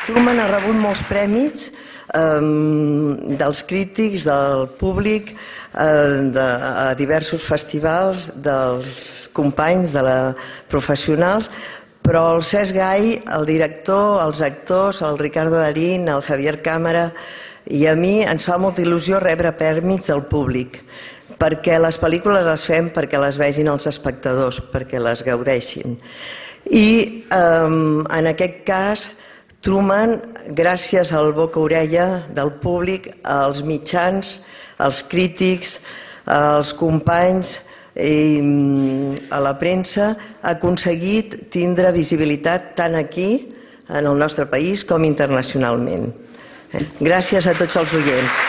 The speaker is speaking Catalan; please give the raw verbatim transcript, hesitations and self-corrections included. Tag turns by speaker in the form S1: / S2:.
S1: Truman ha rebut molts premis dels crítics, del públic, a diversos festivals, dels companys, de professionals, però el Cesc Gai, el director, els actors, el Ricardo Darín, el Javier Cámara i a mi ens fa molta il·lusió rebre premis del públic, perquè les pel·lícules les fem perquè les vegin els espectadors, perquè les gaudeixin. I en aquest cas, Truman, gràcies al boca-orella del públic, als mitjans, als crítics, als companys i a la premsa, ha aconseguit tindre visibilitat tant aquí, en el nostre país, com internacionalment. Gràcies a tots els oients.